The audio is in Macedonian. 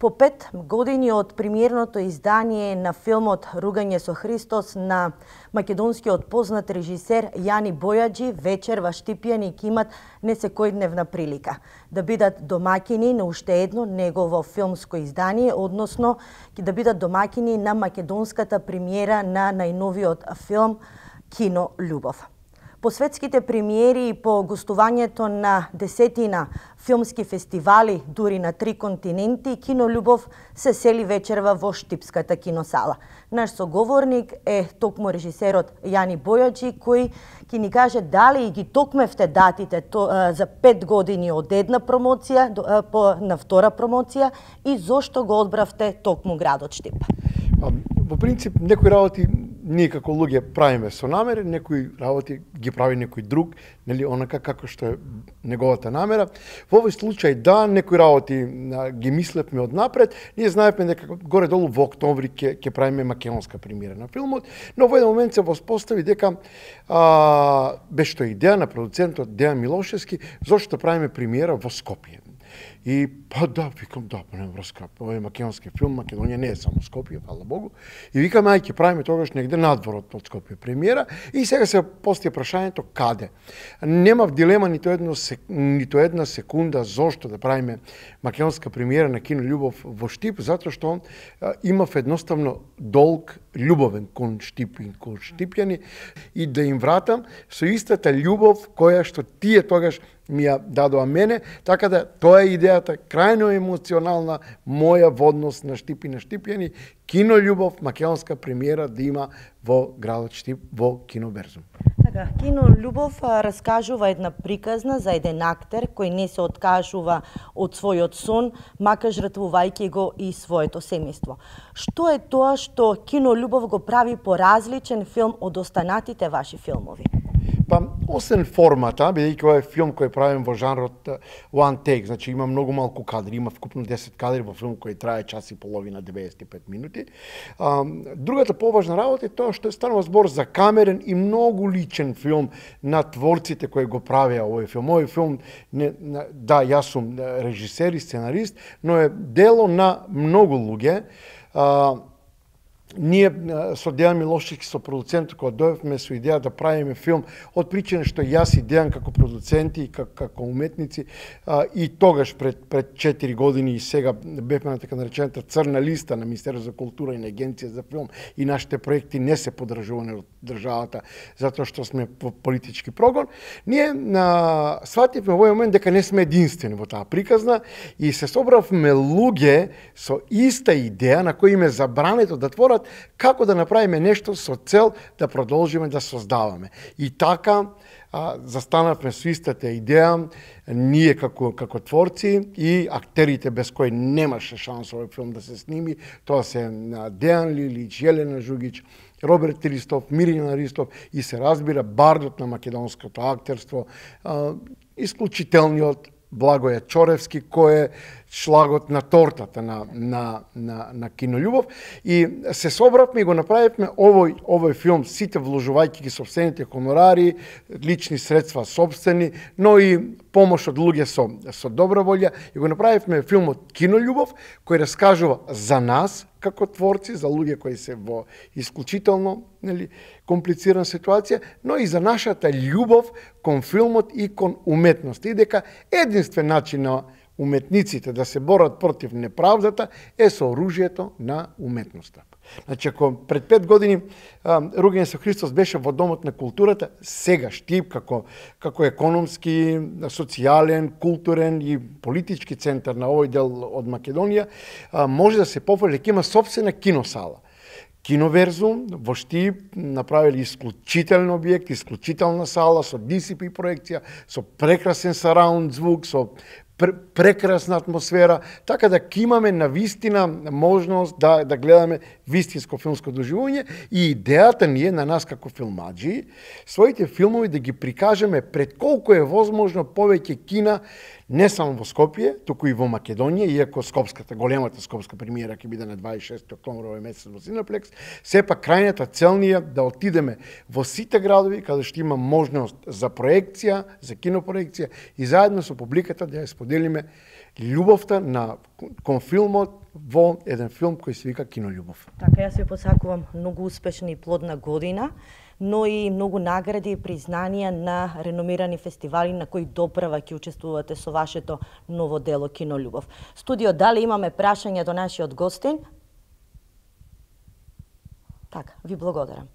По 5 години од премиерното издание на филмот Ругање со Христос на македонскиот познат режисер Јани Бојаджи, вечер во Штипјани ќе имат несекојдневна прилика да бидат домаќини на уште едно негово филмско издание, односно ќе да бидат домаќини на македонската премиера на најновиот филм Кино Љубов. По светските премиери и по гостувањето на десетина филмски фестивали, дури на 3 континенти, Кино Љубов се сели вечерва во Штипската киносала. Наш соговорник е токму режисерот Јани Бојаджи, кој ќе ни каже дали и ги токмевте датите за 5 години од една промоција на втора промоција и зошто го одбравте токму градот Штип. Во принцип, некои работи ние како луѓе правиме со намера, некои работи ги прави некој друг, нели онака како што е неговата намера. Во овој случај да, некои работи ги мислевме од напред. Ние знаевме дека горе-долу во октомври ќе правиме македонска премиера на филмот, но во еден момент се воспостави дека беше тоа идеја на продуцентот Дејан Милошевски зошто правиме премиера во Скопје. И викам нема врска, ова е македонски филм, Македонија не е само Скопје, фала Богу. И викаме ќе правиме тогаш негде надвор од Скопје премиера и сега се постои прашањето каде. Немав дилема нито една секунда зошто да правиме македонска премиера на Кино Љубов во Штип, затоа што имав едноставно долг љубовен кон Штип и кон штипјани и да им вратам со истата љубов која што тие тогаш ми ја дадоа мене, така да тоа е идејата крајно емоционална моја во однос на Штип и на штипјани, Кино Љубов, македонска премиера да има во градот Штип во Киноберзум. Така, Кино Љубов раскажува една приказна за еден актер кој не се откажува од својот сон, макар жртвувајќи го и своето семејство. Што е тоа што Кино Љубов го прави поразличен филм од останатите ваши филмови? Освен формата, бидејќи ова е филм кој правим во жанрот one take, значи има многу малку кадри, има вкупно 10 кадри во филм кој трае час и половина, 95 минути. Другата поважна работа е тоа што станува збор за камерен и многу личен филм на творците кои го правеа овој филм. Овој филм, да, јас сум режисер и сценарист, но е дело на многу луѓе. Ние со Дејан Милошевски, со продуцентот, кога дојдовме со идеја да правиме филм, од причина што јас и Дејан како продуценти и како уметници и тогаш пред 4 години и сега бевме на така наречената црна листа на Министерството за култура и на Агенција за филм и нашите проекти не се поддржувани од државата затоа што сме во политички прогон. Ние свативме во овој момент дека не сме единствени во таа приказна и се собравме луѓе со иста идеја на кои им е забрането да творат како да направиме нешто со цел да продолжиме да создаваме. И така застанавме со истата идеја, ние како творци и актерите без кои немаше шанс овој филм да се сними, тоа се Дејан Лилич, Јелена Жугич, Роберт Ристов, Мирјана Ристов и се разбира бардот на македонското актерство, исклучителниот Благоја Чоревски, кој е шлагот на тортата на Кино Љубов. И се собравме и го направивме овој филм, сите вложувајќи ги сопствените хонорари, лични средства собствени, но и помош од луѓе со добра волја. И го направивме филмот Кино Љубов, кој раскажува за нас, како творци, за луѓе кои се во исклучително комплицирана ситуација, но и за нашата љубов кон филмот и кон уметноста. И дека единствен начин на уметниците да се борат против неправдата е со оружјето на уметноста. Значи, ако пред 5 години Ругање со Христос беше во Домот на културата, сега Штип како економски, социјален, културен и политички центар на овој дел од Македонија, може да се пофали дека има сопствена киносала. Киноверзум во Штип направили исклучителен објект, исклучителна сала со DCP проекција, со прекрасен сараунд звук, со прекрасна атмосфера, така да ќе имаме навистина можност да гледаме вистинско филмско доживување и идејата ни е на нас како филмаджи своите филмови да ги прикажеме пред колку е возможно повеќе кина, не само во Скопје, туку и во Македонија, иако големата скопска премиера ќе биде на 26 октомври овој месец во Синеплекс, сепак крајната цел ни е да отидеме во сите градови каде што има можност за проекција, за кинопроекција и заедно со публиката да ја споделиме љубовта кон филмот во еден филм кој се вика Кинољубов. Така, јас ви посакувам многу успешна и плодна година, но и многу награди и признанија на реномирани фестивали на кои доправа ќе учествувате со вашето ново дело Кинољубов. Студио, дали имаме прашања до нашиот гостин? Така, ви благодарам.